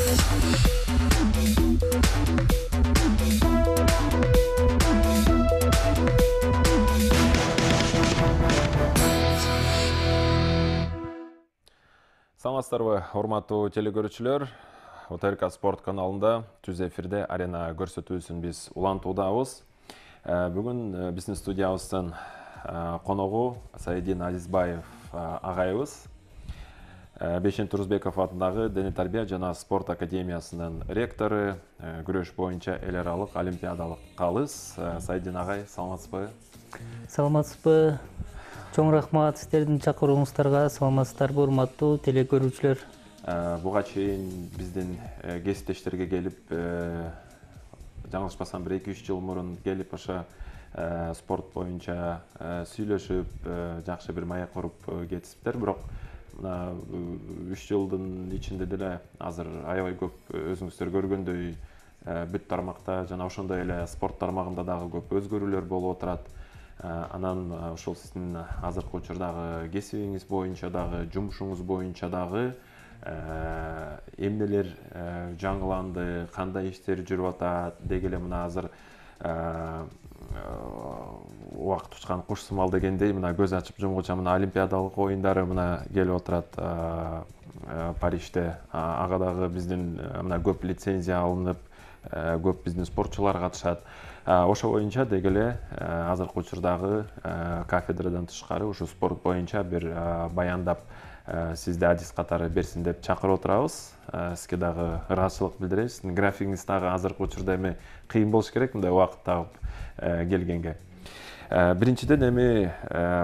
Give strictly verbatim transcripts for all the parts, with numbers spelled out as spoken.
Саламатсыздарбы, урматтуу телекөрүүчүлөр. ОТРК спорт каналында түз эфирде арена көрсөтүүсүн биз улантуудабыз. Бүгүн биздин студиябыздын коногу Сайдин Азизбаев агайыбыз. Бейшен Турузбеков атындагы Дене тарбия жана спорт академиясынын ректору, күрөш боюнча эл аралык олимпиадалык калыс. Сайдин агай, саламатсызбы? Саламатсызбы? Чоң рахмат сиздердин чакырууңуздарга. Саламатсыздарбы, урматтуу телекөрүүчүлөр? Буга чейин биздин кесиптештерге келип, жаңылышпасам бир эки үч жыл мурун келип ошо спорт боюнча сүйлөшүп, жакшы бир маек куруп кетиптер. Бирок мына үч жылдын ичинде деле азыр аябай көп өзүңүздөр көргөндөй бүт тармакта жана ошондой эле спорт тармагында дагы көп өзгөрүүлөр болуп отурат. Анан ошол сиздин азыркы учурдагы кесибиңиз боюнча дагы, жумушуңуз боюнча дагы эмнелер жаңыланды, кандай иштер жүрүп атат, деги эле мына азыр убакыт учкан куш сымал дегендей, мына көз ачып жумгуча мына олимпиадалык оюндары мына келип отурат Парижде. Ага дагы биздин мына көп лицензия алынып, көп биздин спортчулар катышат. Ошо боюнча деги эле азыркы учурдагы кафедрадан тышкары ушу спорт боюнча бир баяндап сизди адис катары берсин деп чакырып отурабыз. Сизге дагы ыраазычылык билдиребиз. Сиздин графигиңиз дагы азыркы учурда эми кыйын болуш керек мындай убакыт тагып келгенге. Биринчиден эми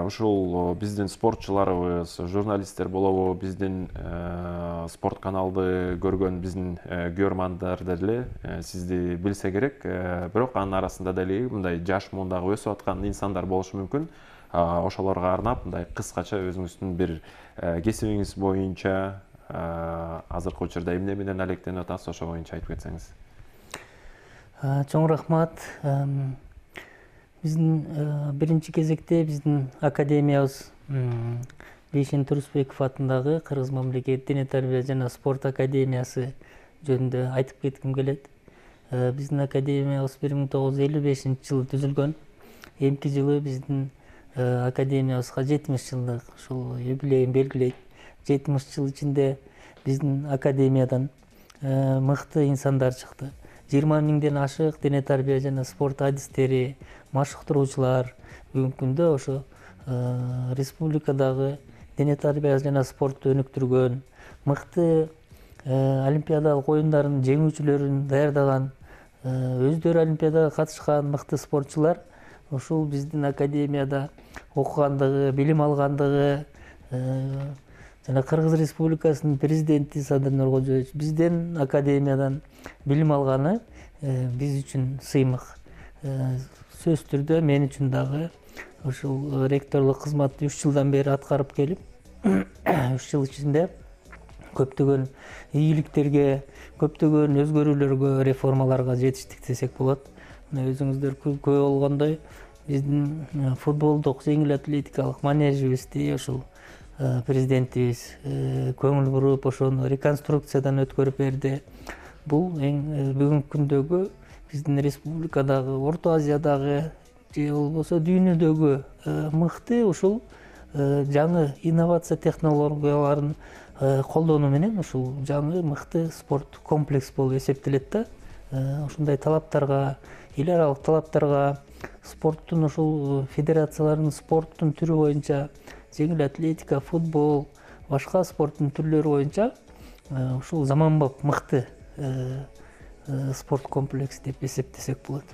ушул биздин спортчуларыбыз, журналисттер болобу, биздин спорт каналды көргөн биздин көрөрмандар деле сизди билсе керек. Бирок анын арасында деле мындай жаш муундагы өсүп аткан инсандар болушу мүмкүн. Ошолорго арнап мындай кыскача өзүңүздүн бир кесибиңиз боюнча азыркы учурда эмне менен алектенип атасыз, ошо боюнча айтып кетсеңиз. Чоң рахмат. Биздин биринчи кезекте биздин академиябыз Бейшен Турузбеков атындагы Кыргыз мамлекеттик дене тарбия жана спорт академиясы жөнүндө айтып кетким келет. Биздин академиябыз бир миң тогуз жүз элүү бешинчи жылы түзүлгөн. Эмки жылы биздин академиябызга жетимиш жылдык ушул юбилейин белгилейт. жетимиш жыл ичинде биздин академиядан мыкты инсандар чыкты. жыйырма миңден ашык дене тарбия жана спорт адистери, машыктыруучулар бүгүнкү күндө ошо республикадагы дене тарбия жана спортту өнүктүргөн, мыкты олимпиадалык оюндардын жеңүүчүлөрүн даярдаган, өздөрү олимпиадага катышкан мыкты спортчулар ушул биздин академияда окугандыгы, билим алгандыгы жана Кыргыз Республикасынын президенти Садыр Нуркожоевич биздин академиядан билим алганы биз үчүн сыймык. Сөзсүз түрдө мен үчүн дагы ушул ректорлук кызматты үч жылдан бери аткарып келип, үч жыл ичинде көптөгөн ийгиликтерге, көптөгөн өзгөрүүлөргө, реформаларга жетиштик десек болот. Мына өзүңүздөр күбө болгондой, биздин футболдук жеңил атлетикалык манежибизди ушул президентибиз көңүл буруп, ошону реконструкциядан өткөрүп берди. Бул эң бүгүнкү күндөгү биздин республикадагы, Орто Азиядагы же болбосо дүйнөдөгү мыкты ушул жаңы инновация технологияларын колдонуу менен ушул жаңы мыкты спорт комплекс болуп эсептелет да. Ушундай талаптарга, эл аралык талаптарга, спорттун ушул федерациялардын спорттун түрү боюнча жеңил атлетика, футбол, башка спорттун түрлөрү боюнча ушул заманбап мыкты спорт комплекс деп эсептесек болот.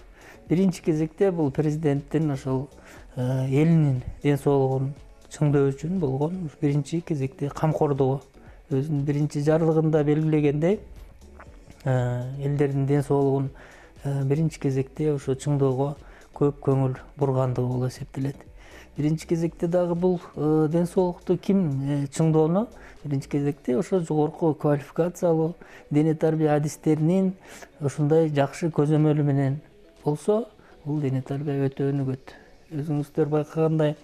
Биринчи кезекте бул президенттин ошол элинин ден соолугун чыңдоо үчүн болгон биринчи кезекте камкордугу. Өзүнүн биринчи жарлыгында белгилегендей, элдердин ден соолугун биринчи кезекте ошо чыңоого көп көңүл бургандыгы болуп эсептелет. Биринчи кезекте дагы бул ден соолукту ким чыңдоону биринчи кезекте ошо жогорку квалификациялуу дене тарбия адистеринин ушундай жакшы көзөмөлү менен болсо, бул дене тарбия өтө өнүгөт. Өзүңүздөр байкагандай,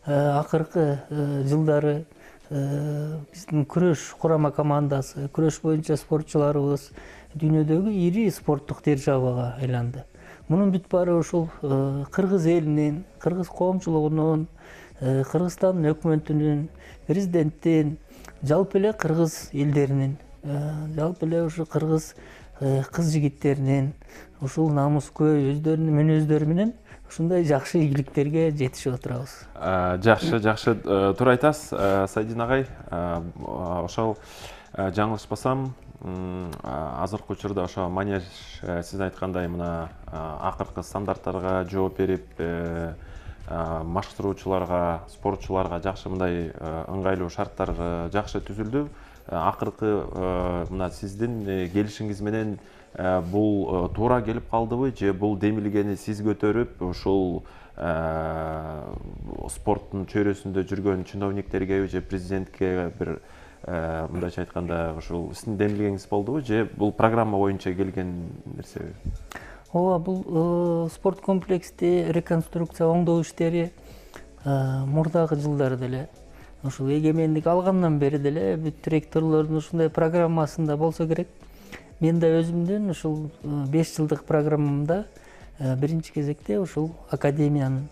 акыркы жылдары биздин күрөш курама командасы, күрөш боюнча спортчуларыбыз дүйнөдөгү ири спорттук державага айланды. Мунун бүт баары ушул кыргыз элинин, кыргыз коомчулугунун, Кыргызстандын өкмөтүнүн, президенттин, жалпы эле кыргыз элдеринин, жалпы эле ушу кыргыз кыз жигиттеринин ушул намыскөй өздөрүнүн мүнөздөрү менен ушундай жакшы ийгиликтерге жетишип отурабыз. Жакшы, жакшы туура айтасыз, Сайдин агай. Ошол жаңылышпасам, азыркы учурда ошо манеж сиз айткандай мына акыркы стандарттарга жооп берип, машыктыруучуларга, спортчуларга жакшы мындай ыңгайлуу шарттар жакшы түзүлдү. Акыркы мына сиздин келишиңиз менен бул туура келип калдыбы, же бул демилгени сиз көтөрүп, ушул спорттун чөйрөсүндө жүргөн чиновниктерге же президентке бир мындайча айтканда ушул сиздин демилгеңиз болдубу, же бул программа боюнча келген нерсеби? Ооба, бул спорт комплексти реконструкция оңдоо иштери мурдагы жылдары деле, ушул эгемендик алгандан бери деле бүт ректорлордун ушундай программасында болсо керек. Мен да өзүмдүн ушул беш жылдык программамда биринчи кезекте ушул академиянын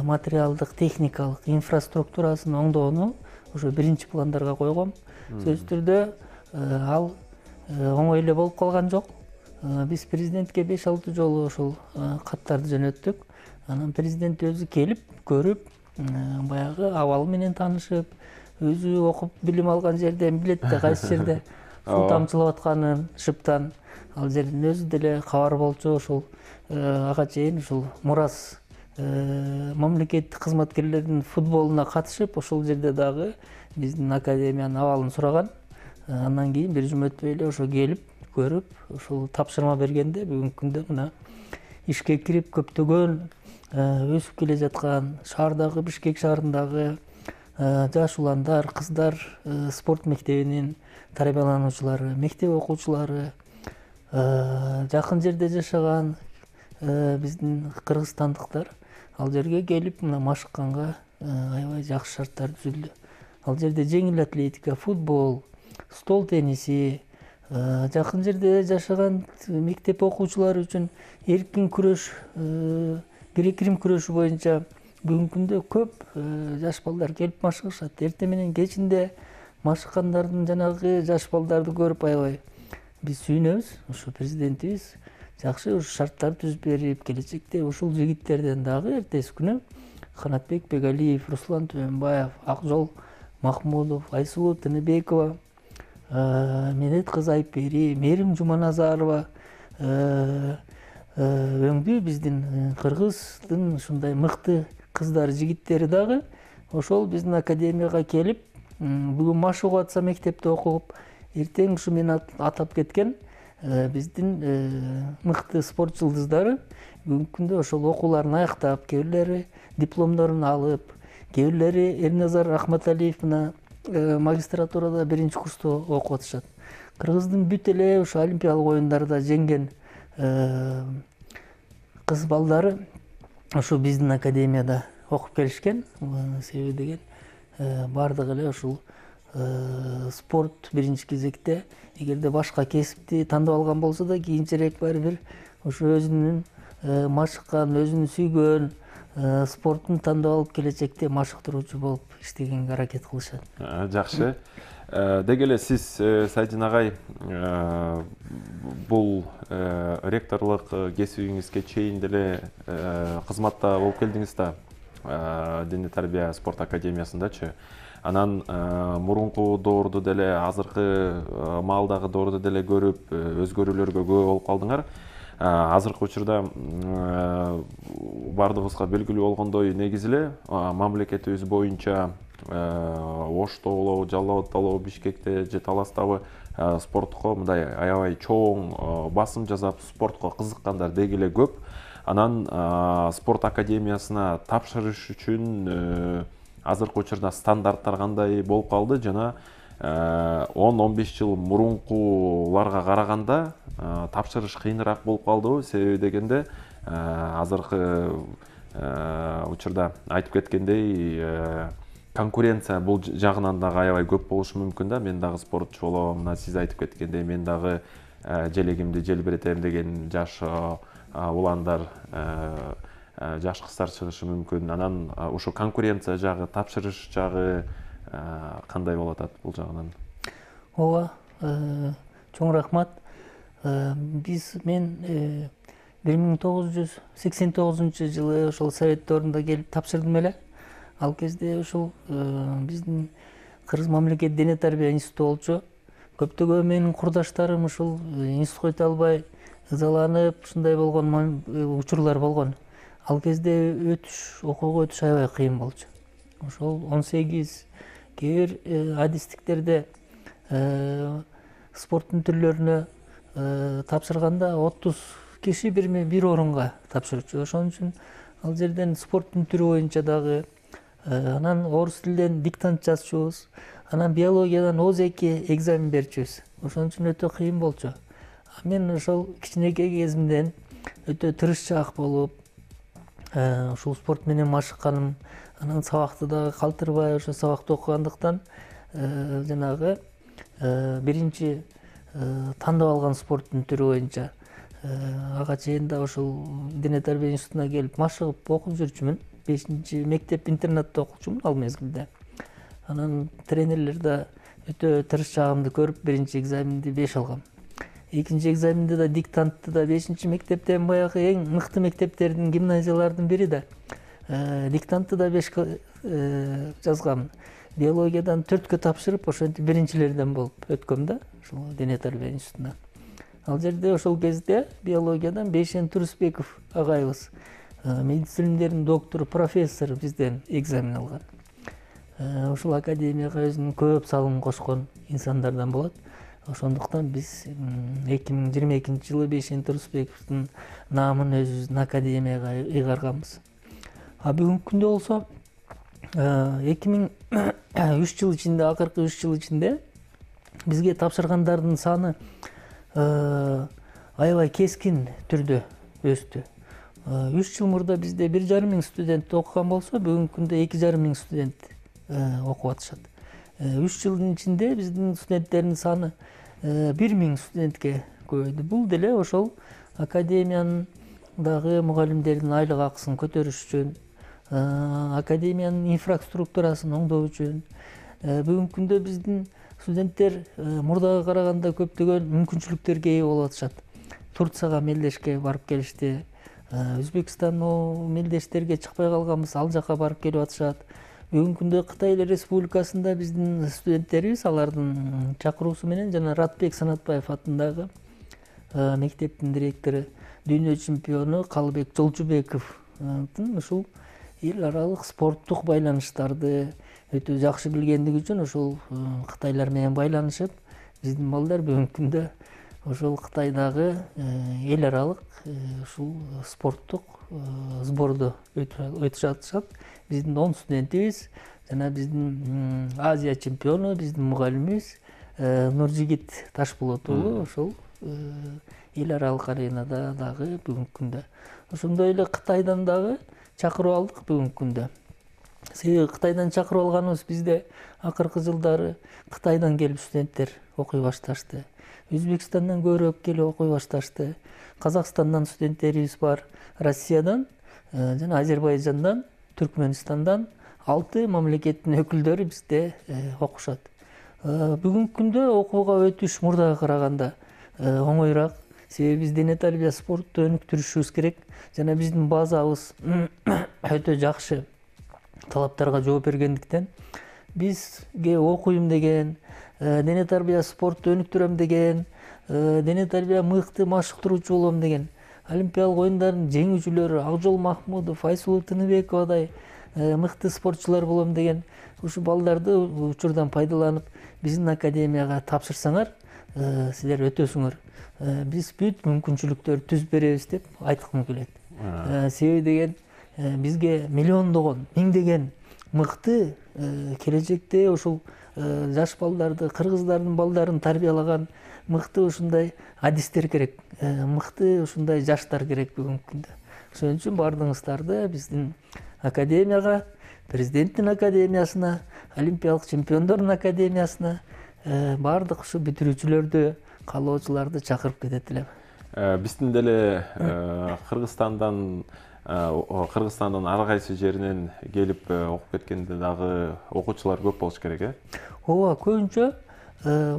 материалдык, техникалык инфраструктурасын оңдоону ошо биринчи пландарга койгом. Сөзсүз түрдө ал оңой эле болуп калган жок. Биз президентке беш алты жолу ошол каттарды жөнөттүк. Анан президент өзү келип, көрүп, баягы абалы менен таанышып, өзү окуп билим алган жерден билет да, кайсы жерде суу тамчылап атканын, шыптан ал жердин өзү деле кабар болчу. Ошол ага чейин ушул Мурас мамлекеттик кызматкерлердин футболуна катышып, ошол жерде дагы биздин академиянын абалын сураган. Андан кийин бир жума өтпөй эле ошо келип, көрүп, ушул тапшырма бергенде бүгүнкү күндө мына ишке кирип көптөгөн өсүп келе жаткан шаардагы, Бишкек шаарындагы жаш уландар, кыздар спорт мектебинин тарбиялануучулары, мектеп окуучулары, жакын жерде жашаган биздин кыргызстандыктар ал жерге келип мына машыкканга аябай жакшы шарттар түзүлдү. Ал жерде жеңил атлетика, футбол, стол тенниси, жакын жерде жашаган мектеп окуучулары үчүн эркин күрөш, грек-рим күрөшү боюнча бүгүнкү күндө көп жаш балдар келип машыгышат. Эртең менен кечинде машыккандардын жанагы жаш балдарды көрүп аябай биз сүйүнөбүз. Ушу президентибиз жакшы ушу шарттар түзүп берип, келечекте ушул жигиттерден дагы эртеси күнү Канатбек Бегалиев, Руслан Түмөнбаев, Акжол Махмудов, Айсулуу Тыныбекова, Медет кызы Айпери, Мерим Жуманазарова өңдүү биздин кыргыздын ушундай мыкты кыздар, жигиттери дагы ошол биздин академияга келип, бүгүн машыгып атса мектепте окуп, эртең ушу мен атап кеткен биздин мыкты спорт жылдыздары бүгүнкү күндө ошол окууларын аяктап, кээ бирлери дипломдорун алып, кээ бирлери Эрназар Рахматалиев мына магистратурада биринчи курста окуп атышат. Кыргыздын бүт эле ушу олимпиялык оюндарда жеңген кыз балдары ушу биздин академияда окуп келишкен. Себеби деген бардыгы эле ушул спорт биринчи кезекте, эгерде башка кесипти тандап алган болсо да, кийинчерээк баары бир ушу өзүнүн машыккан, өзүнүн сүйгөн спортун тандап алып келечекте машыктыруучу болуп иштегенге аракет кылышат. Жакшы. Деги эле сиз, Сайдин агай, бул ректорлук кесибиңизге чейин деле кызматта болуп келдиңиз да, Диний тарбия спорт академиясындачы. Анан мурунку доорду деле, азыркы маалдагы доорду деле көрүп, өзгөрүүлөргө күбө болуп калдыңар. Азыркы учурда бардыгыбызга белгилүү болгондой, негизи эле мамлекетибиз боюнча Ошто болобу, Жалал абадта болобу, Бишкекте же Таластабы спортко мындай аябай чоң басым жасап, спортко кызыккандар деги эле көп. Анан спорт академиясына тапшырыш үчүн азыркы учурда стандарттар кандай болуп калды жана он он беш жыл мурункуларга караганда тапшырыш кыйыныраак болуп калдыбы? Себеби дегенде азыркы учурда айтып кеткендей конкуренция бул жагынан дагы аябай көп болушу мүмкүн да. Мен дагы спортчу болом, мына сиз айтып кеткендей, мен дагы желегимди желбиретем деген жаш уландар, жаш кыздар чыгышы мүмкүн. Анан ошо конкуренция жагы, тапшырыш жагы кандай болуп атат бул жагынан? Ооба, чоң рахмат. Биз мен бир миң тогуз жүз сексен тогузунчу жылы ошол совет доорунда келип тапшырдым эле. Ал кезде ушул биздин Кыргыз мамлекет дене тарбия институту болчу. Көптөгөн менин курдаштарым ушул институтка өтө албай ызаланып, ушундай болгон учурлар болгон. Ал кезде өтүш, окууга өтүш аябай кыйын болчу. Ошол он сегиз кээ бир адистиктерде спорттун түрлөрүнө тапшырганда отуз киши бирме бир орунга тапшырчу. Ошон үчүн ал жерден спорттун түрү боюнча дагы, анан орус тилинен диктант жазчубуз, анан биологиядан о эки экзамен берчүбүз. Ошон үчүн өтө кыйын болчу. Мен ошол кичинекей кезимден өтө тырышчаак болуп, ушул спорт менен машыкканым, анан сабакты дагы калтырбай ошо сабакты окугандыктан жанагы биринчи тандап алган спорттун түрү боюнча ага чейин да ошол дене тарбия институтуна келип машыгып окуп жүрчүмүн. бешинчи мектеп интернатта окучумун ал мезгилде. Анан тренерлер да өтө тырышчагымды көрүп, биринчи экзаменди беш алгам. Экинчи экзаменде да диктантты да бешинчи мектептен, баягы эң мыкты мектептердин, гимназиялардын бири да диктантты да беш жазгам. Биологиядан төрткө тапшырып, ошентип биринчилерден болуп өткөм да, ошол дене тарбия институтуна. Ал жерде ошол кезде биологиядан Бейшен Турусбеков агайыбыз, медицина илимдеринин доктору, профессор бизден экзамен алган. Ушул академияга өзүнүн көп салымын кошкон инсандардан болот. Ошондуктан биз эки миң жыйырма экинчи жылы Бейшен Турусбековдун наамын өзүбүздүн академияга ыйгарганбыз. А бүгүнкү күндө болсо эки миң үч жыл ичинде, акыркы үч жыл ичинде бизге тапшыргандардын саны аябай кескин түрдө өстү. үч жыл мурда бизде бир жарым миң студент окуган болсо, бүгүнкү күндө эки жарым миң студент окуп атышат. үч жылдын ичинде биздин студенттердин саны бир миң студентке көбөйдү. Бул деле ошол академиянын дагы мугалимдердин айлык акысын көтөрүш үчүн, академиянын инфраструктурасын оңдоо үчүн. Бүгүнкү күндө биздин студенттер мурдага караганда көптөгөн мүмкүнчүлүктөргө ээ болуп атышат. Турцияга мелдешке барып келишти. Өзбекстан мелдештерге чыкпай калганбыз, ал жака барып келип атышат. Бүгүнкү күндө Кытай Республикасында биздин студенттерибиз, алардын чакыруусу менен жана Ратбек Санатбаев атындагы мектептин директору, дүйнө чемпиону Калыбек Жолчубековдун ушул эл аралык спорттук байланыштарды өтө жакшы билгендиги үчүн ошол Кытайлар менен байланышып, биздин балдар бүгүнкү күндө ошол Кытайдагы эл аралык ушул спорттук сборду өтүп жатышат. Биздин он студентибиз жана биздин Азия чемпиону, биздин мугалимибиз Нуржигит Ташболот уулу ошол эл аралык аренада дагы бүгүнкү күндө. Ошондой эле Кытайдан дагы чакырып алдык бүгүнкү күндө. Себеби Кытайдан чакырып алганыбыз бизде акыркы жылдары Кытайдан келип студенттер окуй башташты. Өзбекстандан көбүрөөк келип окуй башташты. Казакстандан студенттерибиз бар, Россиядан жана Азербайжандан, Түркменистандан алты мамлекеттин өкүлдөрү бизде окушат. Бүгүнкү күндө окууга өтүш мурдага караганда оңоюраак. Себеби биз дене тарбия спортту өнүктүрүшүбүз керек жана биздин базабыз өтө жакшы талаптарга жооп бергендиктен бизге окуйм деген, дене тарбия спортту өнүктүрөм деген, дене тарбия мыкты машыктыруучу болом деген, олимпиадалык оюндардын жеңүүчүлөрү Акжол Махмудов, Айсулуу Тыныбековадай мыкты спортчулар болом деген ушу балдарды учурдан пайдаланып биздин академияга тапшырсаңар, силер өтөсүңөр. Биз бүт мүмкүнчүлүктөрдү түзүп беребиз деп айткым келет. Себеби деген бизге миллиондогон, миңдеген мыкты келечекте ушул жаш балдарды, кыргыздардын балдарын тарбиялаган мыкты ушундай адистер керек, мыкты ушундай жаштар керек бүгүнкү күндө. Ошон үчүн баардыгыңыздарды биздин академияга президенттин академиясына, олимпиялык чемпиондордун академиясына баардык ушу бүтүрүүчүлөрдү, каалоочуларды чакырып кетет элем. Биздин деле Кыргызстандан Кыргызстандын ар кайсы жеринен келип окуп кеткенде дагы окуучулар көп болуш керек, э? Ооба, көбүнчө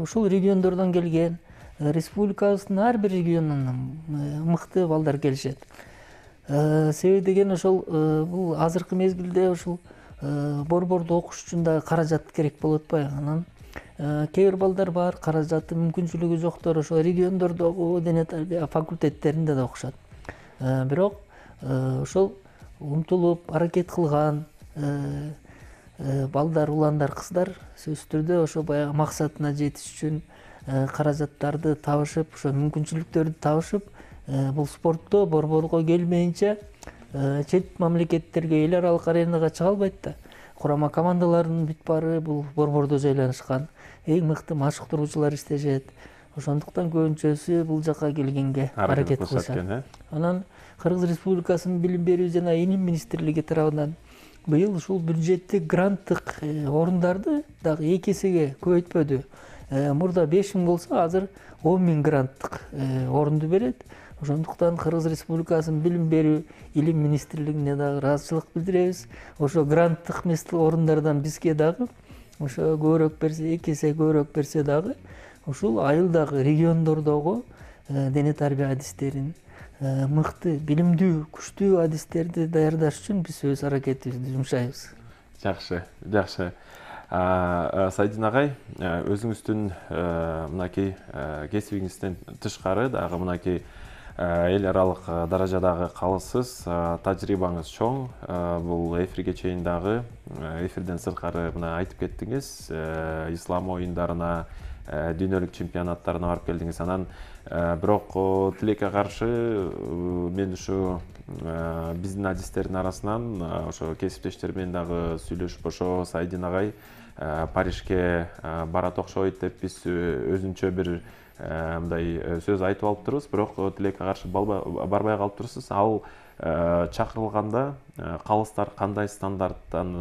ушул региондордон келген, республикабыздын ар бир регионунан мыкты балдар келишет. Себеби деген ошол бул азыркы мезгилде ушул борбордо окуш үчүн дагы каражат керек болуп атпайбы? Анан кээ бир балдар бар, каражаты, мүмкүнчүлүгү жоктор ошо региондордогу дене тарбия факультеттеринде да окушат. Бирок ошол умтулуп аракет кылган балдар, уландар, кыздар сөзсүз түрдө ошо баягы максатына жетиш үчүн каражаттарды табышып, ошо мүмкүнчүлүктөрдү табышып, бул спортто борборго келмейинче чет мамлекеттерге, эл аралык аренага чыга албайт да. Курама командалардын бүт баары бул борбордо жайланышкан. Эң мыкты машыктыруучулар иштешет. Ошондуктан көбүнчөсү бул жака келгенге аракет кылышат. Анан Кыргыз Республикасынын билим берүү жана илим министрлиги тарабынан быйыл ушул бюджеттик гранттык орундарды дагы эки эсеге көбөйтпөдү. Мурда беш миң болсо, азыр он миң гранттык орунду берет. Ошондуктан Кыргыз Республикасынын билим берүү илим министрлигине дагы ыраазычылык билдиребиз. Ошо гранттык орундардан бизге дагы ошо көбүрөөк берсе, эки эсе көбүрөөк берсе дагы ушул айылдагы региондордогу дене тарбия адистерин, мыкты, билимдүү, күчтүү адистерди даярдаш үчүн биз өз аракетибизди жумшайбыз. Жакшы, жакшы. Сайдин агай, өзүңүздүн мынакей кесибиңизден тышкары дагы мынакей эл аралык даражадагы калыссыз тажрыйбаңыз чоң. Бул эфирге чейин дагы эфирден сырткары мына айтып кеттиңиз, ислам оюндарына, дүйнөлүк чемпионаттарына барып келдиңиз. Анан бирок тилекке каршы мен ушу биздин адистердин арасынан ошо кесиптештер менен дагы сүйлөшүп, ошо Сайдин агай Парижге барат окшойт деп биз өзүнчө бир мындай сөз айтып алып турбуз, бирок тилекке каршы барбай калып турсуз. Ал чакырылганда калыстар кандай стандарттан,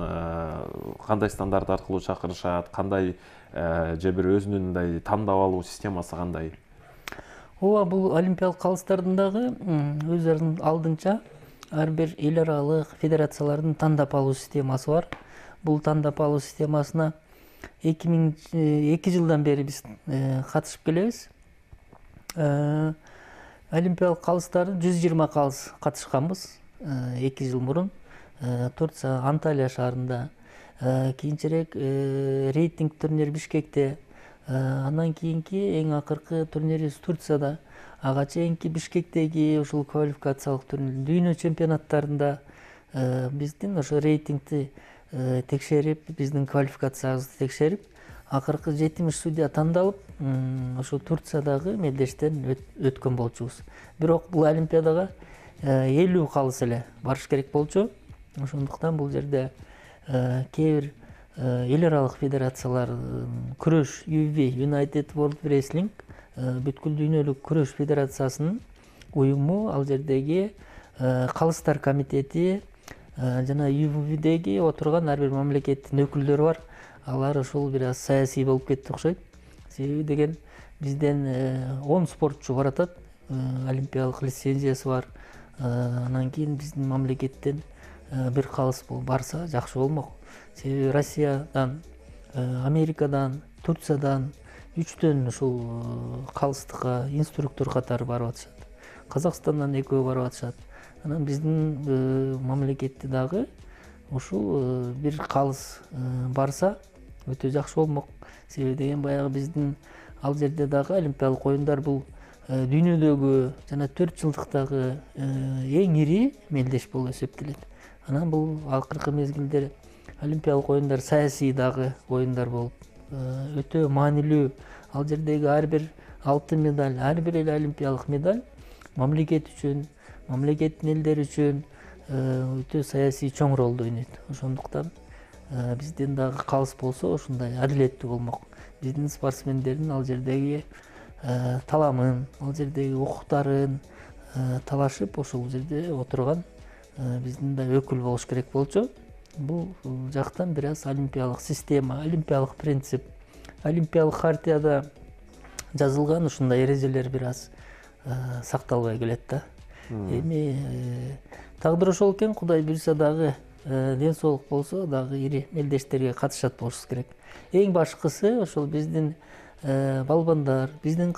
кандай стандарт аркылуу чакырышат, кандай же бир өзүнүн мындай тандап алуу системасы кандай? Ооба, бул олимпиялык калыстардын дагы өздөрүнүн алдынча ар бир эл аралык федерациялардын тандап алуу системасы бар. Бул тандап алуу системасына эки миң эки жылдан бери биз катышып келебиз. Олимпиялык калыстарды жүз жыйырма калыс катышканбыз эки жыл мурун. Турция, Анталия шаарында, кийинчерээк рейтинг турнир Бишкекте, андан кийинки эң акыркы турнирибиз Турцияда, ага чейинки Бишкектеги ушул квалификациялык турнир, дүйнө чемпионаттарында биздин ошо рейтингти текшерип, биздин квалификациябызды текшерип, акыркы жетимиш судья тандалып, ошо Турциядагы мелдештен өткөн болчубуз. Бирок бул олимпиадага элүү калыс эле барыш керек болчу. Ошондуктан бул жерде кээ бир эл аралык федерациялар, күрөш ю эф би, United World Wrestling, бүткүл дүйнөлүк күрөш федерациясынын уюму, ал жердеги калыстар комитети жана ю эф бидеги отурган ар бир мамлекеттин өкүлдөрү бар. Алар ушул бир аз саясий болуп кетти окшойт. Себеби деген бизден он спортчу баратат, олимпиялык лицензиясы бар. Анан кийин биздин мамлекеттен бир калыс барса жакшы болмок. Себеби Россиядан, Америкадан, Турциядан үчтөн ушул калыстыкка инструктор катары барып атышат. Казакстандан экөө барып атышат. Анан биздин мамлекетти дагы ушул бир калыс барса өтө жакшы болмок. Себеби деген баягы биздин ал жерде дагы олимпиялык оюндар бул дүйнөдөгү жана төрт жылдыктагы эң ири мелдеш болуп эсептелет. Анан бул акыркы мезгилдер олимпиялык оюндар саясий дагы оюндар болуп өтө маанилүү. Ал жердеги ар бир алтын медаль, ар бир эле олимпиялык медаль мамлекет үчүн, мамлекеттин элдери үчүн өтө саясий чоң ролду ойнойт. Ошондуктан биздин дагы калыс болсо ушундай адилеттүү болмок. Биздин спортсмендердин ал жердеги таламын, ал жердеги укуктарын талашып, ошол жерде отурган биздин да өкүл болуш керек болчу. бул жактан бир аз олимпиялык система, олимпиялык принцип, олимпиялык хартияда жазылган ушундай эрежелер бир аз сакталбай келет да. Эми тагдыр ошол экен, Кудай буйруса дагы ден соолук болсо дагы ири мелдештерге катышат болушубуз керек. Эң башкысы ошол биздин балбандар, биздин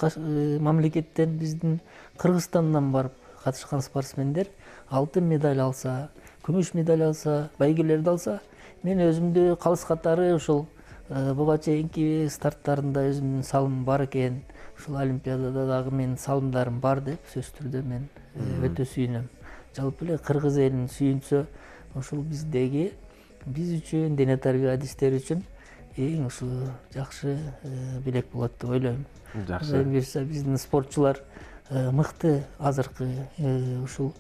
мамлекеттен, биздин Кыргызстандан барып катышкан спортсмендер алтын медаль алса, күмүш медаль алса, байгелерди алса, мен өзүмдү калыс катары ошол буга чейинки старттарында өзүмдүн салымым бар экен, ушул олимпиадада дагы менин салымдарым бар деп сөзсүз түрдө мен өтө сүйүнөм. Жалпы эле кыргыз элин сүйүнсө, ошол биздеги биз үчүн, дене тарбия адистери үчүн эң ушул жакшы белек болот деп ойлойм. Жакшы. Буюрса биздин спортчулар мыкты азыркы ушул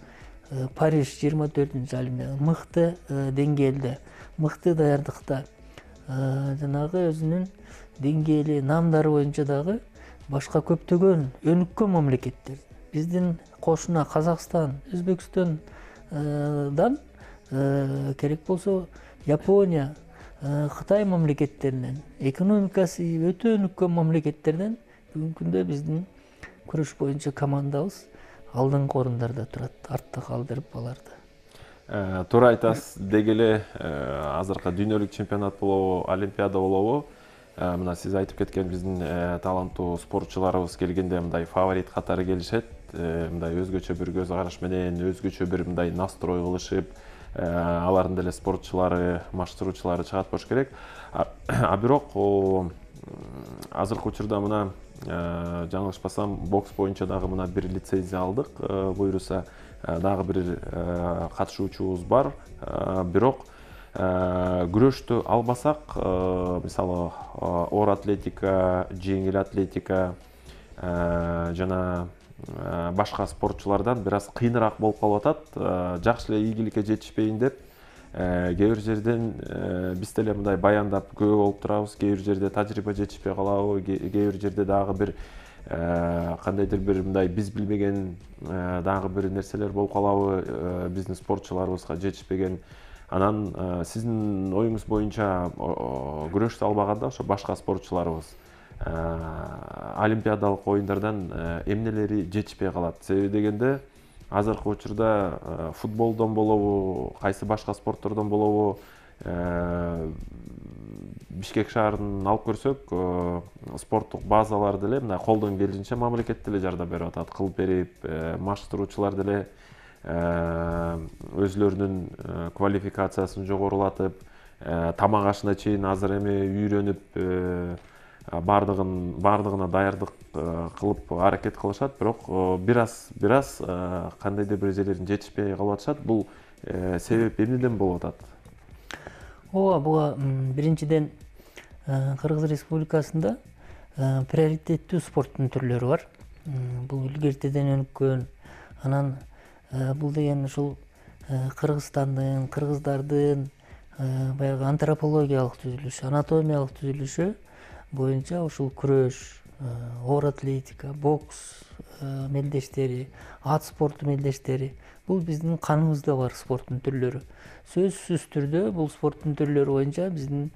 Париж жыйырма төртүнчү олимпиада мыкты деңгээлде, мыкты даярдыкта, жанагы өзүнүн деңгээли, наамдары боюнча дагы башка көптөгөн өнүккөн мамлекеттер, биздин кошуна Казакстан, Өзбекстандан керек болсо Япония, Кытай мамлекеттеринен, экономикасы өтө өнүккөн мамлекеттерден бүгүнкү күндө биздин күрөш боюнча командабыз алдыңкы орундарда турат, артта калдырып аларды. Туура айтасыз. Деги эле азыркы дүйнөлүк чемпионат болобу, олимпиада болобу, мына сиз айтып кеткен биздин таланттуу спортчуларыбыз келгенде мындай фаворит катары келишет, мындай өзгөчө бир көз караш менен, өзгөчө бир мындай настрой кылышып, алардын деле спортчулары, маштыруучулары чыгат болуш керек. А бирок азыркы учурда мына жаңылышпасам, бокс боюнча дагы мына бир лицензия алдык, буюрса дагы бир катышуучубуз бар. Бирок күрөштү албасак, мисалы оор атлетика, жеңил атлетика жана башка спортчулардан бир аз кыйыныраак болуп калып атат. Жакшы эле ийгиликке жетишпейин деп, кээ бир жерден биз деле мындай баяндап күбө болуп турабыз, кээ бир жерде тажрыйба жетишпей калабы, кээ бир жерде дагы бир кандайдыр бир мындай биз билбеген дагы бир нерселер болуп калабы, биздин спортчуларыбызга жетишпеген. Анан сиздин оюңуз боюнча күрөштү албаганда ошо башка спортчуларыбыз олимпиадалык оюндардан эмнелери жетишпей калат? Себеби дегенде азыркы учурда футболдон болобу, кайсы башка спорттордон болобу, Бишкек шаарын алып көрсөк, спорттук базалар деле мына колдон келишинче мамлекет деле жардам берип атат, кылып берип, маштыруучулар деле өзлөрүнүн квалификациясын жогорулатып, тамак ашына чейин азыр эми үйрөнүп, бардыгын бардыгына даярдык кылып аракет кылышат, бирок бир аз бир аз кандайдыр бир жерлерин жетишпей калып атышат. Бул себеп эмнеден болуп атат? Ооба, буга биринчиден Кыргыз Республикасында приоритеттүү спорттун түрлөрү бар. Бул илгертеден өнүккөн. Анан бул деген ушул Кыргызстандын, кыргыздардын баягы антропологиялык түзүлүшү, анатомиялык түзүлүшү боюнча ушул күрөш, оор атлетика, бокс мелдештери, ат спорту мелдештери бул биздин каныбызда бар спорттун түрлөрү. Сөзсүз түрдө бул спорттун түрлөрү боюнча биздин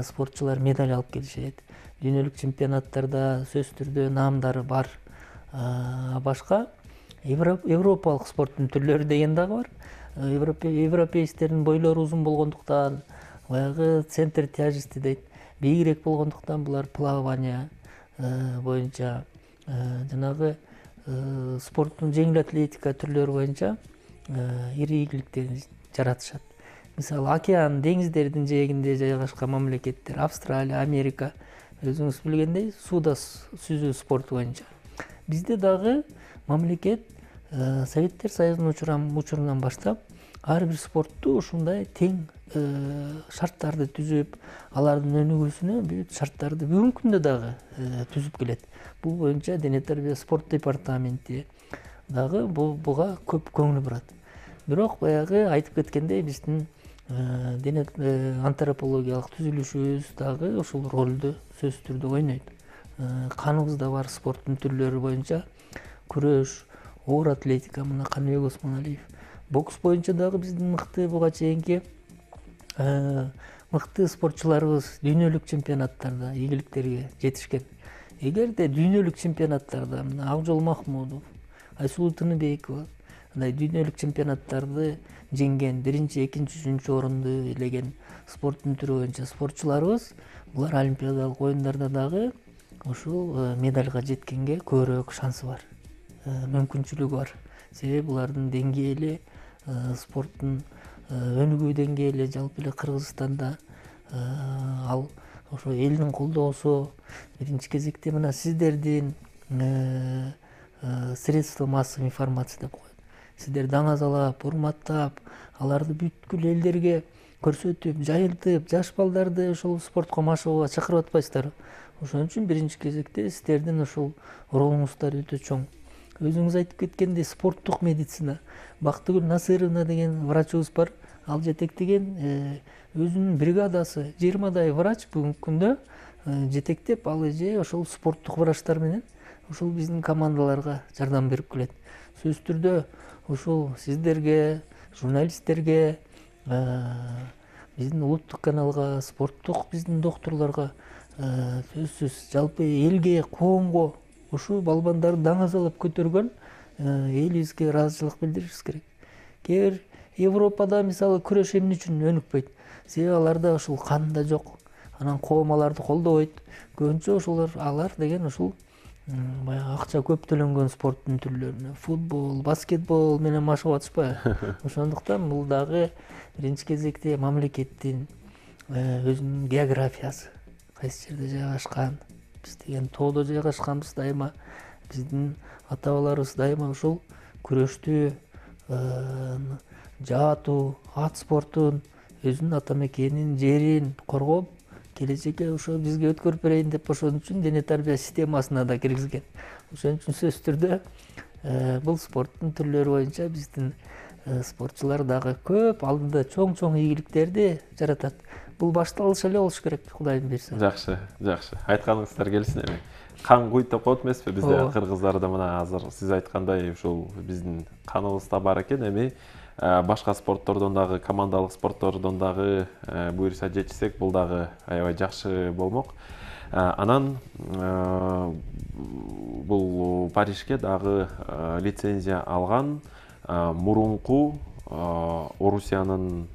спортчулар медаль алып келишет. Дүйнөлүк чемпионаттарда сөзсүз түрдө наамдары бар. Башка европалык спорттун түрлөрү деген дагы бар. Европейстердин бойлору узун болгондуктан, баягы центр тяжести дейт, бийигирээк болгондуктан булар плавание боюнча, жанагы спорттун жеңил атлетика түрлөрү боюнча ири ийгиликтерди жаратышат. Мисалы, океан, деңиздердин жээгинде жайгашкан мамлекеттер, Австралия, Америка, өзүңүз билгендей, сууда сүзүү спорту боюнча. Бизде дагы мамлекет Советтер Союзунун учурунан баштап ар бир спортту ушундай тең шарттарды түзүп, алардын өнүгүүсүнө бүт шарттарды бүгүнкү күндө дагы түзүп келет. Бул боюнча дене тарбия спорт департаменти дагы буга көп көңүл бурат. Бирок баягы айтып кеткендей, биздин дене антропологиялык түзүлүшүбүз дагы ушул ролду сөзсүз түрдө ойнойт. Каныбызда бар спорттун түрлөрү боюнча күрөш, оор атлетика, мына Каныбек Осмоналиев. Бокс боюнча дагы биздин мыкты буга чейинки мыкты спортчуларыбыз дүйнөлүк чемпионаттарда ийгиликтерге жетишкен. Эгерде дүйнөлүк чемпионаттарда мына Акжол Махмудов, Айсулуу Тыныбекова мындай дүйнөлүк чемпионаттарды жеңген, биринчи, экинчи, үчүнчү орунду ээлеген спорттун түрү боюнча спортчуларыбыз булар олимпиадалык оюндарда дагы ушул медальга жеткенге көбүрөөк шансы бар, мүмкүнчүлүгү бар. Себеби булардын деңгээли, спорттун өнүгүү деңгээли жалпы эле Кыргызстанда ал ошо элдин колдоосу, биринчи кезекте мына сиздердин средства массовой информации деп коет. Сиздер даңазалап, урматтап, аларды бүткүл элдерге көрсөтүп, жайылтып, жаш балдарды ушул спортко машыгууга чакырып атпайсыздарбы? Ошон үчүн биринчи кезекте сиздердин ушул ролуңуздар өтө чоң. Өзүңүз айтып кеткендей, спорттук медицина. Бактыгүл Насыровна деген врачыбыз бар. Ал жетектеген өзүнүн бригадасы, жыйырмадай врач бүгүнкү күндө жетектеп, ал эже ошол спорттук врачтар менен ушул биздин командаларга жардам берип келет. Сөзсүз түрдө ушул сиздерге, журналисттерге, биздин улуттук каналга, спорттук биздин докторлорго, сөзсүз жалпы элге, коомго ушул балбандарды даңазалап көтөргөн элибизге ыраазычылык билдиришибиз керек. Кээ бир Европада мисалы күрөш эмне үчүн өнүкпөйт? Себеби аларда ушул кан да жок. Анан коом аларды колдобойт. Көбүнчө ошолор алар деген ушул баягы акча көп төлөнгөн спорттун түрлөрүнө, футбол, баскетбол менен машыгып атышпайбы? Ошондуктан бул дагы биринчи кезекте мамлекеттин өзүнүн географиясы, кайсы жерде жайгашкан. Биз деген тоодо жайгашканбыз дайыма. Биздин ата-бабаларыбыз дайыма ушул күрөштү, жаатуу, ат спортун, өзүнүн ата мекенин, жерин коргоп, келечекке ошо бизге өткөрүп берейин деп ошон үчүн дене тарбия системасына да киргизген. Ошон үчүн сөзсүз түрдө бул спорттун түрлөрү боюнча биздин спортчулар дагы көп алдыда чоң-чоң ийгиликтерди жаратат. Бул башталыш эле болуш керек, Кудайым буйрса. Жакшы, жакшы. Айтканыңыздар келсин эми. Кан куйт деп коет эмеспи бизде кыргыздарда, мына азыр сиз айткандай ушул биздин каныбызда бар экен. Эми башка спорттордон дагы, командалык спорттордон дагы буйрса жетишсек, бул дагы аябай жакшы болмок. Анан бул Парижге дагы лицензия алган мурунку Орусиянын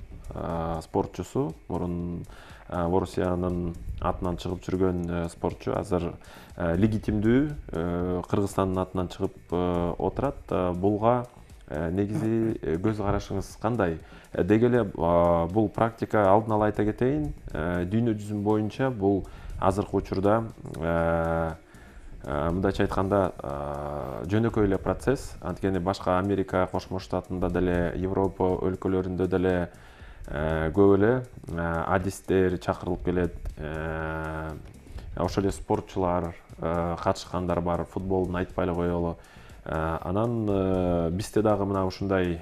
спортчусу, мурун Орусиянын атынан чыгып жүргөн спортчу азыр легитимдүү Кыргызстандын атынан чыгып отурат. Булга негизи көз карашыңыз кандай? Деги эле бул практика, алдын ала айта кетейин, дүйнө жүзү боюнча бул азыркы учурда мындайча айтканда жөнөкөй эле процесс. Анткени башка Америка Кошмо Штатында деле, Европа өлкөлөрүндө деле көп эле адистер чакырылып келет. Ошол эле спортчулар катышкандар бар, футболдун айтпай эле коелу. Анан бизде дагы мына ушундай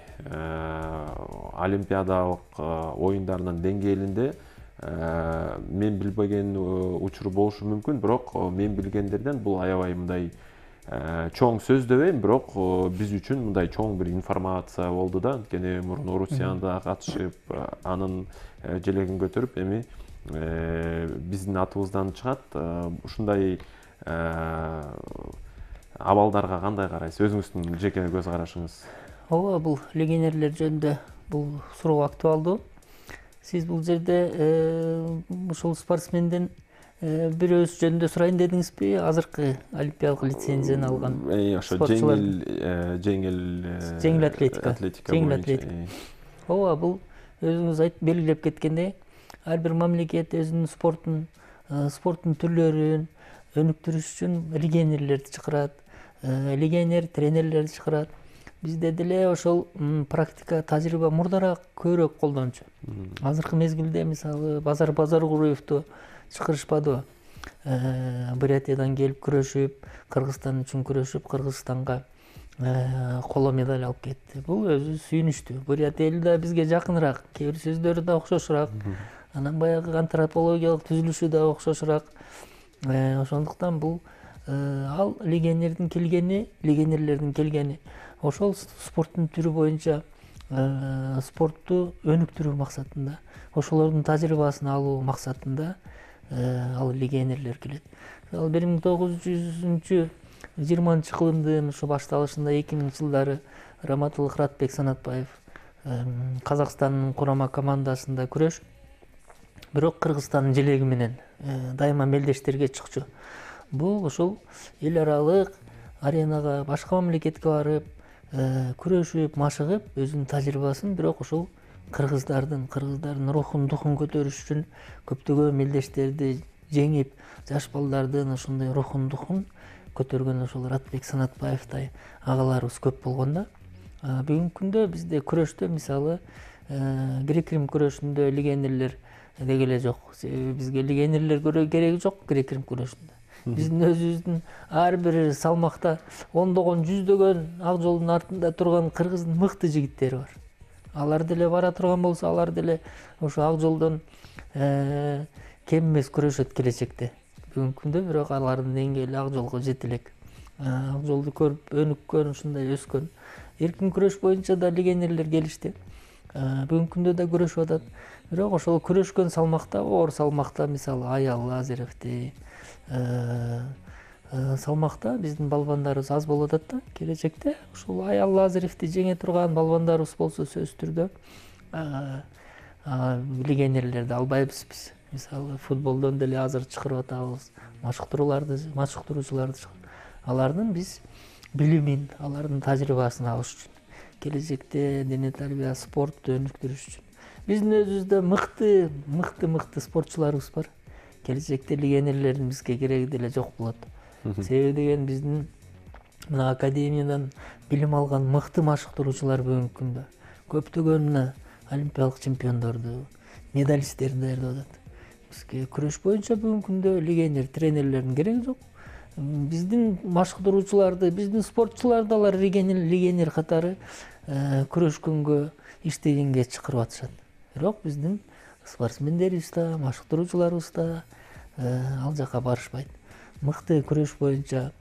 олимпиадалык оюндарынын деңгээлинде мен билбеген учур болушу мүмкүн, бирок мен билгендерден бул аябай мындай чоң сөз дебейм, бирок биз үчүн мындай чоң бир информация болду да. Анткени мурун Орусияда катышып, анын желегин көтөрүп, эми биздин атыбыздан чыгат. Ушундай абалдарга кандай карайсыз? Өзүңүздүн жеке көз карашыңыз. Ооба, бул легионерлер жөнүндө бул суроо актуалдуу. Сиз бул жерде ушул спортсмендин бирөөсү жөнүндө сурайын дедиңизби? Азыркы олимпиадалык лицензияны алган спортчулар? Жеңил жеңил атлетика. Жеңил атлетика. Ооба, бул өзүңүз айтып белгилеп кеткендей, ар бир мамлекет өзүнүн спортун, спорттун түрлөрүн өнүктүрүш үчүн легионерлерди чакырат, легионер тренерлерди чакырат. Бизде деле ошол практика, тажрыйба мурдараак көбүрөөк колдончу. Азыркы мезгилде мисалы Базар Базаркулуевду чакырышпадыбы? Бурятиядан келип күрөшүп, Кыргызстан үчүн күрөшүп, Кыргызстанга коло медаль алып кетти. Бул өзү сүйүнүчтүү. Бурятия эли да бизге жакыныраак, кээ бир сөздөрү да окшошураак. Анан баягы антропологиялык түзүлүшү да окшошураак. Ошондуктан бул ал легионердин келгени, легионерлердин келгени ошол спорттун түрү боюнча спортту өнүктүрүү максатында, ошолордун тажрыйбасын алуу максатында ал легионерлер келет. Ал бир миң тогуз жүзүнчү жыйырманчы кылымдын ушу башталышында эки миңинчи жылдары Раматыл Кыратбек Санатбаев Казакстандын курама командасында күрөш, бирок Кыргызстандын желеги менен дайыма мелдештерге чыкчу. Бул ошол эл аралык аренага, башка мамлекетке барып күрөшүп, машыгып, өзүнүн тажрыйбасын, бирок ошол кыргыздардын кыргыздардын рухун, духун көтөрүш үчүн көптөгөн мелдештерди жеңип, жаш балдардын ошондой рухун, духун көтөргөн ошол Ратбек Санатбаевтай агаларыбыз көп болгондо, бүгүнкү күндө бизде күрөштө мисалы грек-рим күрөшүндө легионерлер деги эле жок. Себеби бизге легионерлер кереги жок грек-рим күрөшүндө. Биздин өзүбүздүн ар бир салмакта ондогон, жүздөгөн ак жолдун артында турган кыргыздын мыкты жигиттери бар. Алар деле бара турган болсо, алар деле ошо ак жолдон кем эмес күрөшөт келечекте. Бүгүнкү күндө бирок алардын деңгээли ак жолго жете элек. Ак жолду көрүп өнүккөн, ушундай өскөн. Эркин күрөш боюнча да легионерлер келишти. Бүгүнкү күндө да күрөшүп атат. Бирок ошол күрөшкөн салмакта, оор салмакта, мисалы Аял Лазаревти салмакта биздин балбандарыбыз аз болуп атат да. Келечекте ушул Аял Лазаревти жеңе турган балбандарыбыз болсо сөзсүз түрдө легионерлерди албайбыз биз. Мисалы футболдон деле азыр чакырып атабыз, машыктырууларды, машыктыруучуларды чакырып. Алардын биз билимин, алардын тажрыйбасын алыш үчүн, келечекте дене тарбия, спортту өнүктүрүш үчүн. Биздин өзүбүздө мыкты, мыкты, мыкты спортчуларыбыз бар. Келечекте легионерлердин бизге кереги деле жок болот. Себеби деген биздин мына академиядан билим алган мыкты машыктыруучулар бүгүнкү күндө көптөгөн мына олимпиялык чемпиондорду, медалисттерди даярдап атат. Бизге күрөш боюнча бүгүнкү күндө легионер, тренерлердин кереги жок. Биздин машыктыруучуларды, биздин спортчуларды алар легионер катары күрөшкөнгө, иштегенге чакырып атышат. Бирок биздин спортсмендерибиз да, машыктыруучуларыбыз да ал жака барышпайт. Мыкты күрөш боюнча,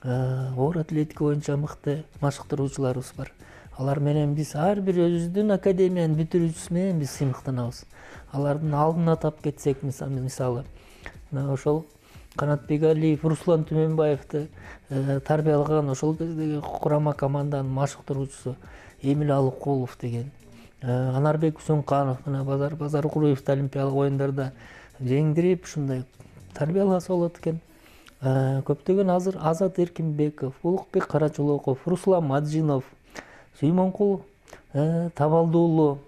оор атлетика боюнча мыкты машыктыруучуларыбыз бар. Алар менен биз ар бир өзүбүздүн академиянын бүтүрүүчүсү менен биз сыймыктанабыз. Алардын алдын атап кетсек, мисалы, ошол Канатбек Алиев, Руслан Түмөнбаевди тарбиялаган ошол кездеги курама команданын машыктыруучусу Эмил Алыкулов деген, Анарбек Үсөнканов, мына Базар Базаркулуевди олимпиялык оюндарда жеңдирип, ушундай тарбияласа болот экен. Көптөгөн азыр Азат Эркинбеков, Улукбек Карачулоков, Руслан Маджинов, Сүймөнкул Табалдуулу,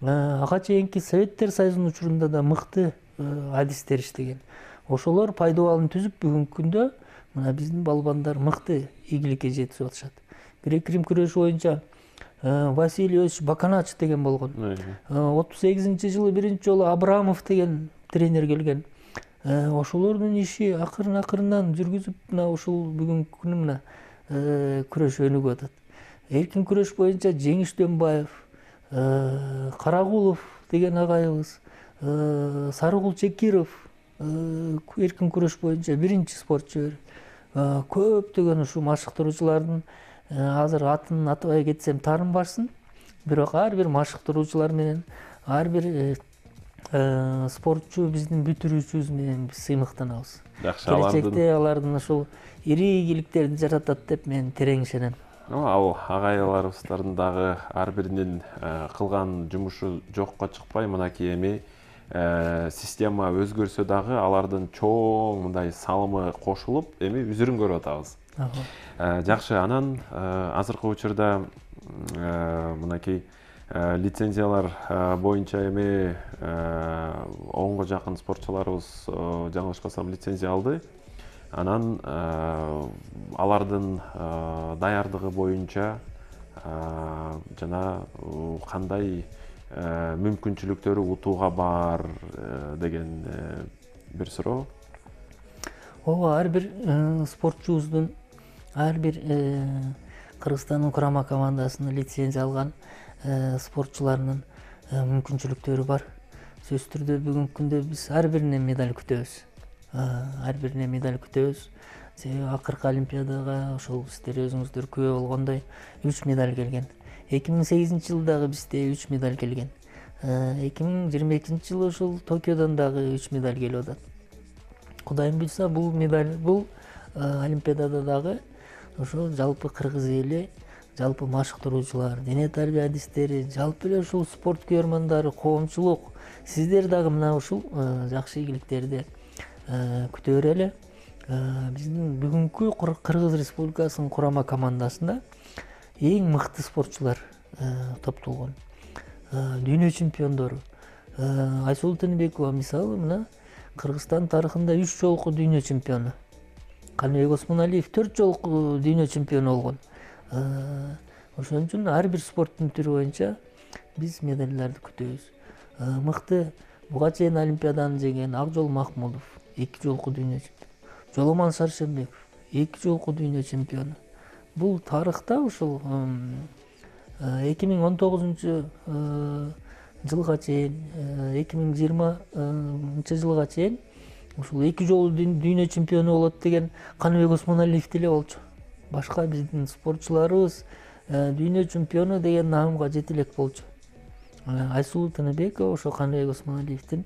ага чейинки Советтер Союзунун учурунда да мыкты адистер иштеген. Ошолор пайдубалын түзүп, бүгүнкү күндө мына биздин балбандар мыкты ийгиликке жетип атышат. Грек-рим күрөшү боюнча Василий Баканач деген болгон. отуз сегизинчи жылы биринчи жолу Абрамов деген тренер келген. Ошолордун иши акырын акырындан жүргүзүп, мына ушул бүгүнкү күнү мына күрөш өнүгүп атат. Эркин күрөш боюнча Жеңиш Дөнбаев, Карагулов деген агайыбыз, Сарыгул Чекиров эркин күрөш боюнча биринчи спортчу. Көптөгөн ушу машыктыруучулардын азыр атын атабай кетсем таарынбашсын, бирок ар бир машыктыруучулар менен, ар бир спортчу биздин бүтүрүүчүбүз менен биз сыймыктанабыз. Келечекте алардын ушул ири ийгиликтерди жаратат деп мен терең ишенем. Ал агайларыбыздардын дагы ар биринин кылган жумушу жокко чыкпай, мынакей эми система өзгөрсө дагы алардын чоң мындай салымы кошулуп, эми үзүрүн көрүп атабыз. Жакшы, анан азыркы учурда мынакей лицензиялар боюнча эми онго жакын спортчуларыбыз, жаңылышпасам, лицензия алды. Анан алардын даярдыгы боюнча жана кандай мүмкүнчүлүктөрү утууга бар деген бир суроо. Ооба, ар бир спортчубуздун, ар бир Кыргызстандын курама командасына лицензия алган спортчуларынын мүмкүнчүлүктөрү бар. Сөзсүз түрдө бүгүнкү күндө биз ар бирине медаль күтөбүз. Ар бирине медаль күтөбүз. Себеби акыркы олимпиадага ошол сиздер өзүңүздөр күбө болгондой үч медаль келген. эки миң сегизинчи жылы дагы бизде үч медаль келген. эки миң жыйырма экинчи жылы ушул Токиодон дагы үч медаль келип атат. Кудайым буйрса бул медаль, бул олимпиадада дагы ошо жалпы кыргыз эли, жалпы машыктыруучулар, дене тарбия адистери, жалпы эле ушул спорт күйөрмандары, коомчулук, сиздер дагы мына ушул жакшы ийгиликтерди күтө берели. Биздин бүгүнкү Кыргыз Республикасынын курама командасында эң мыкты спортчулар топтолгон. Дүйнө чемпиондору Айсулуу Тыныбекова мисалы мына Кыргызстан тарыхында үч жолку дүйнө чемпиону. Каныбек Осмоналиев төрт жолку дүйнө чемпиону болгон. Ошон үчүн ар бир спорттун түрү боюнча биз медальдарды күтөбүз. Мыкты буга чейин олимпиаданы жеңген Акжол Махмудов эки жолку дүйнө чемпиону. Жоломан Шаршембеков эки жолку дүйнө чемпиону. Бул тарыхта ушул эки миң он тогузунчу жылга чейин, эки миң жыйырманчы жылга чейин ушул эки жолу дүйнө чемпиону болот деген Каныбек Осмоналиев деле болчу. Башка биздин спортчуларыбыз дүйнө чемпиону деген наамга жете элек болчу. Айсулуу Тыныбекова ошо Каныбек Осмоналиевдин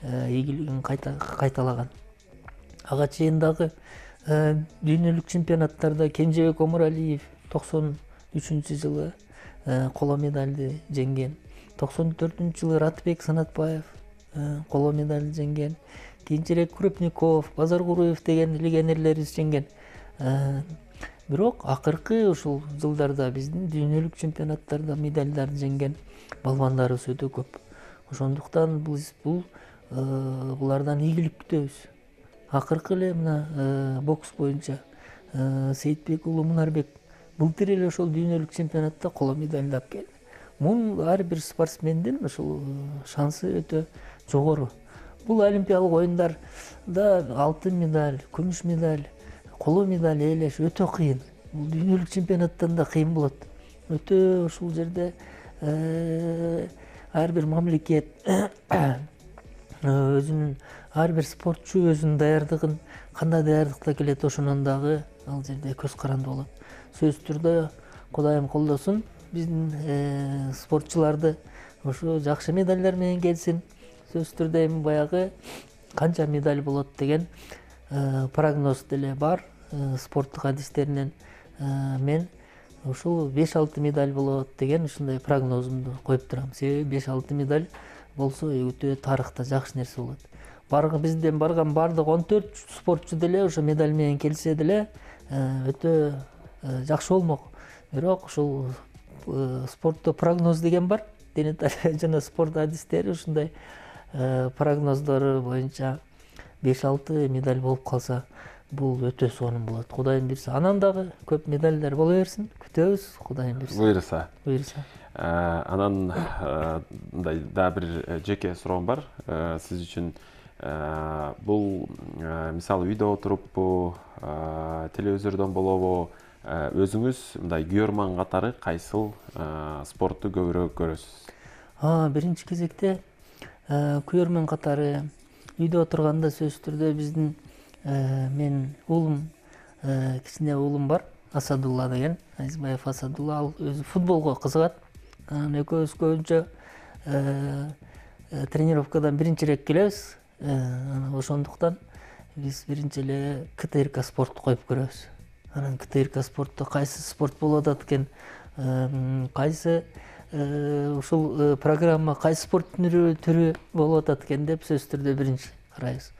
ийгилигин кайталаган. Ага чейин дагы дүйнөлүк чемпионаттарда Кенжебек Омуралиев токсон үчүнчү жылы коло медальды жеңген. токсон төртүнчү жылы Ратыбек Санатбаев коло медаль жеңген. Кийинчерээк Крупников, Базаркуруев деген легионерлерибиз жеңген. Бирок акыркы ушул жылдарда биздин дүйнөлүк чемпионаттарда медальдарды жеңген балбандарыбыз өтө көп. Ошондуктан биз бул булардан ийгилик күтөбүз. Акыркы эле мына бокс боюнча Сейитбек уулу Мунарбек былтыр эле ошол дүйнөлүк чемпионатта коло медальды алып келди. Мун ар бир спортсмендин ушул шансы өтө жогору. Бул олимпиялык оюндарда алтын медаль, күмүш медаль, коло медаль ээлеш өтө кыйын. Бул дүйнөлүк чемпионаттан да кыйын болот. Өтө ушул жерде ар бир мамлекет өзүнүн, ар бир спортчу өзүнүн даярдыгын, кандай даярдыкта келет, ошонун дагы ал жерде көз каранды болот. Сөзсүз түрдө Кудайым колдосун, биздин спортчуларды ошо жакшы медальдар менен келсин. Сөзсүз түрдө эми баягы канча медаль болот деген прогноз деле бар спорттук адистеринен. Мен ушул беш алты медаль болот деген ушундай прогнозумду коюп турам. Себеби беш алты медаль болсо өтө тарыхта жакшы нерсе болот. Баргы бизден барган бардык он төрт спортчу деле ошо медаль менен келсе деле өтө жакшы болмок. Бирок ушул спортто прогноз деген бар. Дене тарбия жана спорт адистери ушундай прогноздору боюнча беш алты медаль болуп калса, бул өтө сонун болот. Кудайым буйрса, анан дагы көп медальдар боло берсин. Күтөбүз, Кудайым буйрса. Буйрса. Буйрса. Анан мындай дагы бир жеке суроом бар сиз үчүн. Бул мисалы үйдө отуруппу, телевизордон болобу, өзүңүз мындай күйөрман катары кайсыл спортту көбүрөөк көрөсүз? Биринчи кезекте күйөрмөн катары үйдө отурганда сөзсүз түрдө биздин мен уулум, кичине уулум бар, Асадулла деген, Азизбаев Асадулла, ал өзү футболго кызыгат. Анан экөөбүз көбүнчө тренировкадан биринчирээк келебиз. Ошондуктан биз биринчи эле КТРК спортту коюп көрөбүз. Анан КТРК спортто кайсы спорт болуп атат экен, кайсы ушул программа, кайсы спорт түрү болуп атат экен деп сөзсүз түрдө биринчи карайбыз.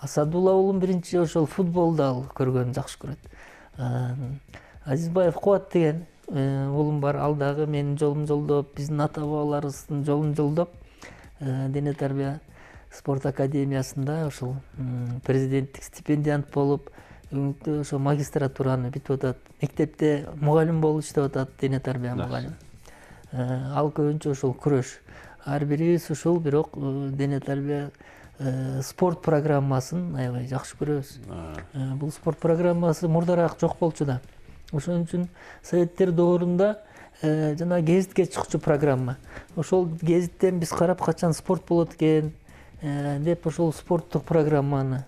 Асадулла уулум биринчи ошол футболду ал көргөнүн жакшы көрөт. Азизбаев Кубат деген уулум бар, ал дагы менин жолум жолдоп, биздин ата бабаларыбыздын жолун жолдоп, дене тарбия спорт академиясында ошол президенттик стипендиант болуп, бүгүнкү ошо магистратураны бүтүп атат. Мектепте мугалим болуп иштеп атат, дене тарбия мугалим. Ал көбүнчө ошол күрөш. Ар бирибиз ушул, бирок дене тарбия спорт программасын аябай жакшы көрөбүз. Бул спорт программасы мурдараак жок болчу да. Ошон үчүн Советтер доорунда жана гезитке чыкчу программа. Ошол гезиттен биз карап качан спорт болот экен деп ошол спорттук программаны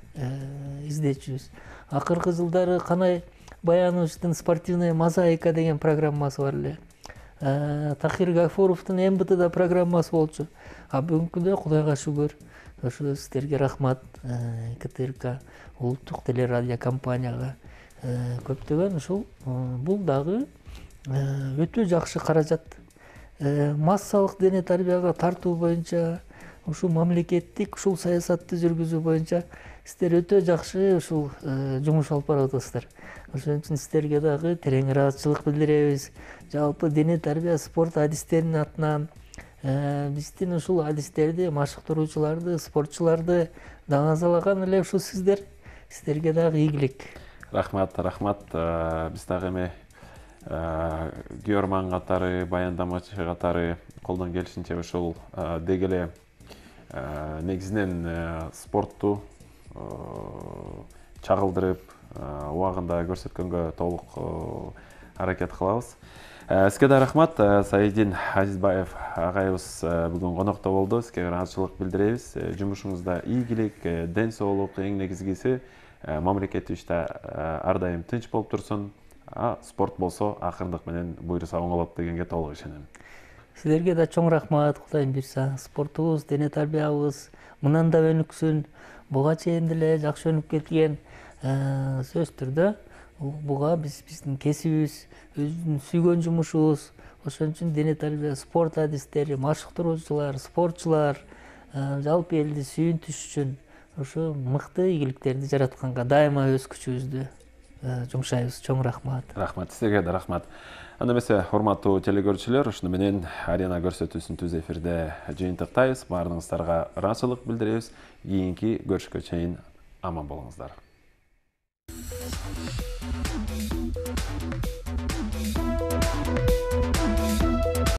издечүбүз. Акыркы жылдары Канай Баяновичтин спортивная мозаика деген программасы бар эле. Тахир Гафуровдун эм бэ тэ программасы болчу. А бүгүнкү күндө Кудайга шүгүр ошо сиздерге рахмат, ка тэ эр ка улуттук телерадио компанияга көптөгөн ушул бул дагы өтө жакшы каражат. Массалык дене тарбияга тартуу боюнча, ушул мамлекеттик ушул саясатты жүргүзүү боюнча сиздер өтө жакшы ушул жумуш алып барып атасыздар. Ошон үчүн сиздерге дагы терең ыраазычылык билдиребиз. Жалпы дене тарбия спорт адистеринин атынан биздин ушул адистерди, машыктыруучуларды, спортчуларды даңазалаган эле ушул сиздер. Сиздерге дагы ийгилик. Рахмат, рахмат. Биз дагы эми көрөрман катары, баяндамачы катары колдон келишинче ушул деги эле негизинен спортту чагылдырып, убагында көрсөткөнгө толук аракет кылабыз. Сизге да рахмат. Саидин Азизбаев агайыбыз бүгүн конокто болду. Сизге ыраазычылык билдиребиз. Жумушуңузда ийгилик, ден соолук, эң негизгиси мамлекетибизде ар дайым тынч болуп турсун. А спорт болсо акырындык менен буйруса оңолот дегенге толук ишенем. Силерге да чоң рахмат. Кудайым буйруса спортубуз, дене тарбиябыз мындан да өнүксүн. Буга чейин деле жакшы өнүп кеткен. Сөзсүз түрдө буга биз биздин кесибибиз, өзүбүздүн сүйгөн жумушубуз. Ошон үчүн дене тарбия спорт адистери, машыктыруучулар, спортчулар жалпы элди сүйүнтүш үчүн ошо мыкты ийгиликтерди жаратканга дайыма өз күчүбүздү жумшайбыз. Чоң рахмат. Рахмат, сизге да рахмат. Анда эмесе, урматтуу телекөрүүчүлөр, ушуну менен арена көрсөтүүсүн түз эфирде жыйынтыктайбыз. Баарыңыздарга ыраазычылык билдиребиз. Кийинки көрүшкө чейин аман болуңуздар.